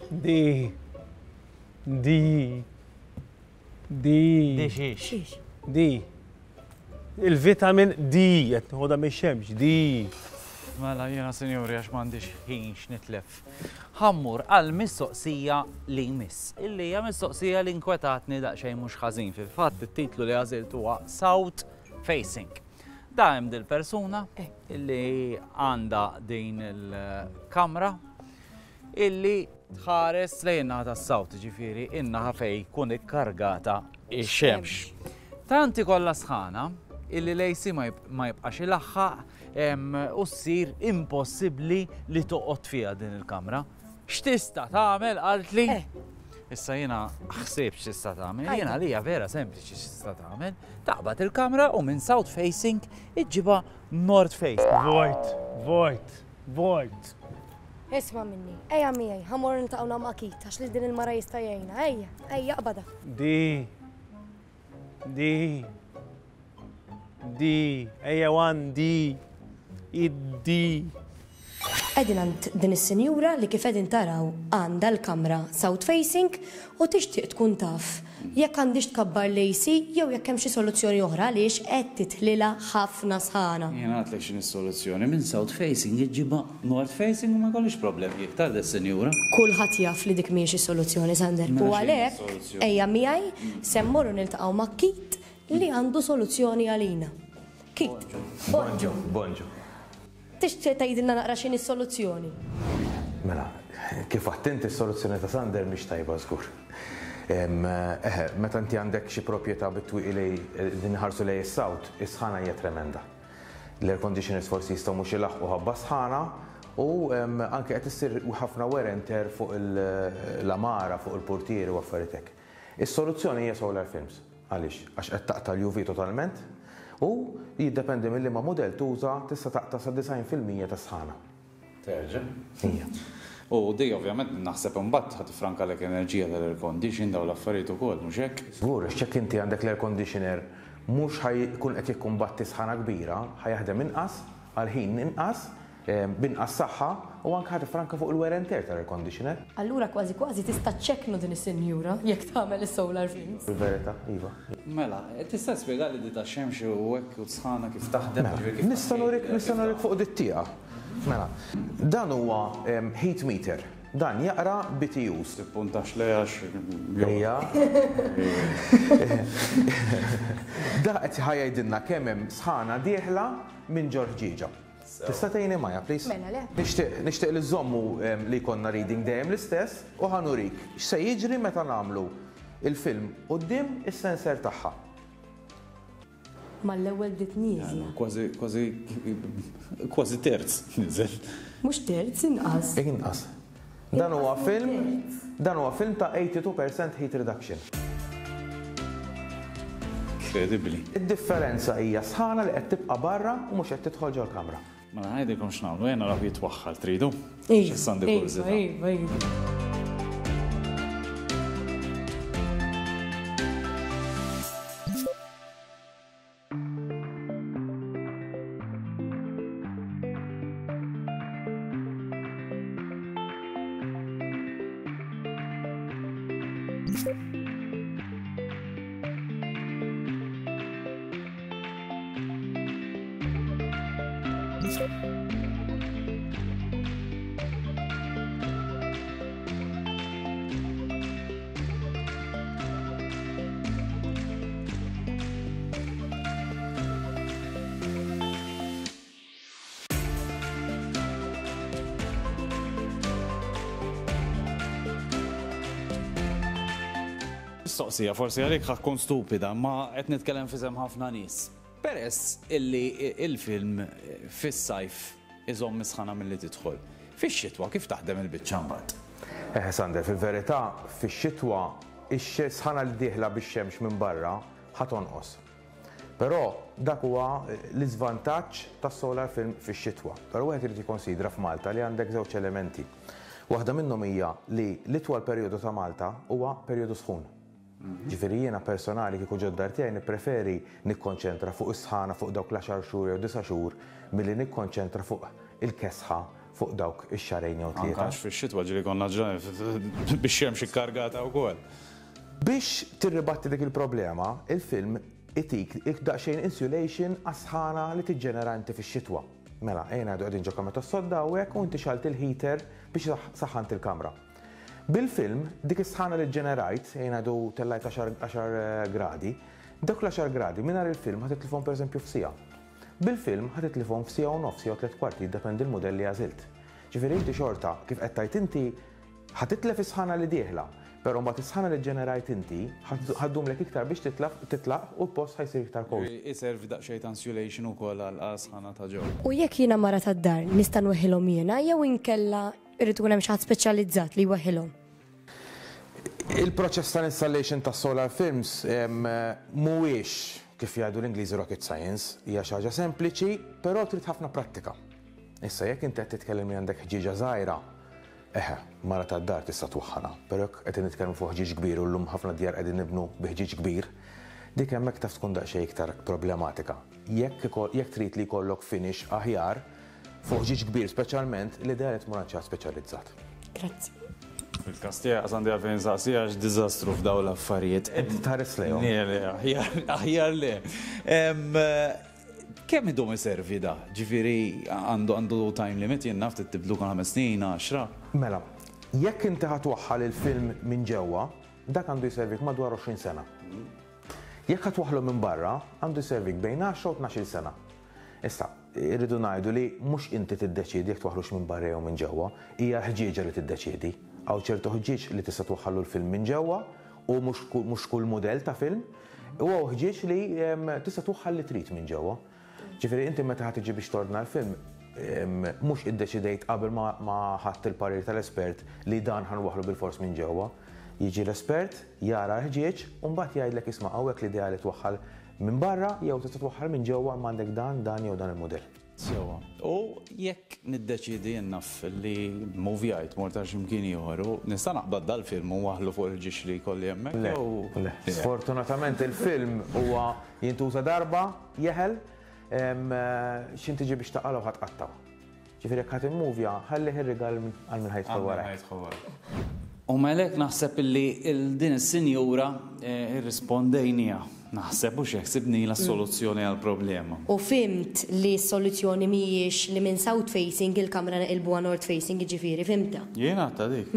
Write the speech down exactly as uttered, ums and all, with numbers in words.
D. D. D. D xiex. D. Il-vitamin D, qed nieħodha mix-xemx, D. Mela jiena sinjuri għax m'għandix ħin x'nitlef. Ħa mmur għal mistoqsija li jmiss. Illi hija mistoqsija li nkwetatni daqsxejn mhux ħażin. Fil-fatt it-titlu li għażilt huwa South Facing. Da hemm dil-persuna illi għandha din il-kamra illi tħares lejn naħa tas-South, ġifieri in-naħa fejn jkun ikkargata ix-xemx. Tant ikollha sħana illi l-A C ma jibqax ilaħħaq u ssir impossibbli li toqgħod fiha din il-kamra. X'tista' tagħmel qaltli? Issa jiena ħsib x'tista' tagħmel, jiena li hija vera sempliċi x'tista' tagħmel. Taqbad il-kamra u minn south facing iġġibha north facing. Vojt, vojt, vojt. Isma' minni, ejja miegħi, ħa mmorru niltaqgħu ma' Keith, għax li din il-mara jista' jgħinna. Ejja, ejja aqbada. D. D. D. Ejja one D. Id-D. Qegħdin għand din is-sinjura li kif qegħdin taraw għandha l-kamra south facing u tixtieq tkun taf jekk għandix tkabbar l-A C jew jekk hemm xi soluzzjoni oħra għaliex qed tidħlilha ħafna sħana. Jiena għedtlek x'inhi s-soluzzjoni, minn south facing iġġibha north facing u ma jkollix problemi iktar dis-sinjura. Kulħadd jaf li dik mhijiex is-soluzzjoni, Sander. Mela U x'inhi għalhekk s-soluzzjoni? Ejja miegħi se mmorru niltaqgħu ma' Keith li għandu soluzzjoni għalina. Keith, Bonġu, bonġu. Tixtieq tgħidilna naqra x'inhi s-soluzzjoni? Mela, kif għedt inti, s-soluzzjoni ta' Sander mhix tajba żgur. Em, Eħe, meta inti għandek xi proprjetà bit-twieqi li din ħarsu lejn is-south, is-sħana hija tremenda. L-air conditioners forsi jistgħu mhux ilaħqu ħabba sħana u em, anke qed issir ħafna wear and tear fuq l-għamara, fuq il-portieri u affarijiet hekk. Is-soluzzjoni hija solar films. Għaliex? Għax qed taqta' l-U V totalment u jiddependi mill ma model tuża, tista' taqta' sa disgħin fil-mija ta' sħana. Terġa'. Ija. U di ovvjament naħseb imbagħad ħa tifrankalek enerġija tal-air condition, daw l-affarijiet ukoll, mhux hekk? Żgur, x'jekk inti għandek l-air conditioner mhux ħa jkun qed jikkumbatti sħana kbira, ħa jaħdem inqas, għal ħin inqas, eh, b'inqas saħħa u anke ħa tifranka fuq il-wear and tear tal-air conditioner. Allura kważi kważi tista' ċċekknu din is-sinjura jekk tagħmel is-solar films. Fil-verità, iva. Mela, tista' spjega li di ta' xemx u hekk u sħana kif taħdem? Mela, ġifieri kif nista' nurik nista' nurik fuq dit-tieqa. Mela, dan huwa em, heat meter. Dan jaqra B T Us. Tippuntax le għax. Ejja. Da qed ħa jgħidilna kemm hemm sħana dieħla minn ġol-ħġieġa. Tista' tgħinni Maja, please? Mela, le. Nixtieq nixtieq li żommu em, li jkollna reading dejjem l-istess u ħa nurik x'se jiġri meta nagħmlu il-film quddiem is-sensor tagħha. Mal-ewwel bdiet nieżla. Kważi, kważi, kważi terz niżel. Mhux terz, inqas. Inqas. Dan huwa Inqas film, minn dan huwa film ta' tnejn u tmenin fil-mija heat reduction. Incredibly. Id-differenza hija sħana li qed tibqa' barra u mhux qed tidħol ġol-kamra. Mela ngħidilkom x'nagħmlu, jena naraw jitwaħħal, tridu? Iva, Issa għandi iva, kurżità. iva, iva. Mistoqsija, forsi għalik ħa tkun stupida, ma qed nitkellem f'isem ħafna nies. Peress illi il-film fis-sajf iżomm is-sħana milli tidħol. Fix-xitwa kif taħdem il-biċċa mbagħad? Eh, Sander, fil-verità, fix-xitwa ix-sħana li dieħla bix-xemx minn barra ħa tonqos. Però dak huwa l-iżvantaġġ tas-solar film fix-xitwa. Però wieħed irid jikkonsidra f'Malta li għandek żewġ elementi. Waħda minnhom hija li l-itwal perjodu ta' Malta huwa perjodu sħun. Ġifieri jiena personali kieku ġod-dar tiegħi nippreferi nikkonċentra fuq is-sħana fuq dawk l-għaxar xhur jew disa' xhur milli nikkonċentra fuq il-kesħa fuq dawk ix-xahrejn jew Anke tlieta. għax fix-xitwa ġieli konna ġranet bix-xemx ikkargata wkoll. Biex tirribatti dik il-problema, il-film itik daqsxejn insulation għas-sħana li tiġġenera inti fix-xitwa. Mela, ejja ngħidu qegħdin ġo kamra tas-sodda u hekk u inti xgħelt il-heater biex saħħant il-kamra. Bil-film, dik is-sħana li ġenerajt, ejja ngħidu tellajt għaxar gradi, dak l-għaxar gradi mingħajr il-film ħa titlifhom pereżempju f'siegħa. Bil-film ħa titlifhom f'siegħa u nofs jew tliet kwarti, jiddependi l-mudell li għażilt. Ġifieri inti xorta, kif qed tgħid inti, ħa titlef is-sħana li dieħla, però mbagħad is-sħana li ġenerajt inti ħa ddumlek iktar biex titlaq titlaq u l-post ħa jsir iktar cozy. Iservi daqsxejn ta' insulation ukoll għal sħana ta' ġew. U jekk jiena mara tad-dar nista' nweħħilhom jiena jew inkella irid ikun hemm xi ħadd speċjalizzat li jweħħilhom? Il-proċess tal-installation ta' solar films em, mhuwiex, kif jgħidu l-Ingliżi, rocket science, hija xi ħaġa sempliċi, però trid ħafna prattika. Issa jekk inti qed titkellem li għandek ħġieġa żgħira, eħe, mara tad-dar tista' twaħħalha, però jekk qed nitkellmu fuq ħġieġ kbir u llum ħafna djar qegħdin nibnu bi ħġieġ kbir, dik hemmhekk taf tkun daqsxejn iktar problematika. Jekk iko- jekk trid li jkollok finish aħjar fuq ħġieġ kbir speċjalment, l-idea li tmur għand xi ħadd speċjalizzat. Grazzi. Fil-każ tiegħi għandi għalfejn nsaqsi għax diżastru f'daw l-affarijiet. Inti tħares lejhom. Le, le, aħjar- aħjar le. Em, Kemm idum iservi da? Ġifieri għandu għandu time limit, jien naf tibdlu kull ħames snin, għaxra. Mela, jekk inti ħa twaħħal il-film minn ġewwa, dak għandu jservik madwar għoxrin sena. Jekk ħa twaħħlu minn barra, għandu jservik bejn għaxra u tnax-il sena. Issa, irridu ngħidu li mhux inti tiddeċiedi jekk twaħħlux minn barra jew minn ġewwa, hija ħġieġa li tiddeċiedi. Hawn ċertu ħġieġ li tista' twaħħallu l-film minn ġewwa u mhux kull- mhux kull mudell ta' film, u hawn ħġieġ li em, tista' twaħħal li trid minn ġewwa. Ġifieri inti meta ħa tiġi biex tordna l-film, em, mhux iddeċidejt qabel ma ma ħadt il-parir tal-espert li dan ħa nwaħħlu bil-fors minn ġewwa. Jiġi l-espert, jara l-ħġieġ, u mbagħad jgħidlek, "Isma', hawnhekk l-ideali twaħħal minn barra jew tista' twaħħal minn ġewwa, imma għandek dan, dan jew dan il-mudell." Sewwa. U jekk niddeċidi, naf li movjajt mort għal x'imkien ieħor, u nista' naqbad dal-film u nwaħħlu fuq il-ħġieġ li jkolli hemmhekk? Le, jew- le. Sfortunatament il-film huwa jintuża darba, jeħel, em, x'ħin tiġi biex taqalgħu ħa tqattgħu. Ġifieri jekk ħa timmuvja, ħallih ir-rigal għal min ħa jidħol warajk. U melek naħseb illi il- din is-sinjura eh, irrispondejnieha. Naħseb u xek sibni la soluzzjoni għal-problema. U fhimt li s-soluzzjoni mhijiex li minn south facing il-kamra naqilbuha north facing, jiġifieri fhimtha. Jiena ta' dik.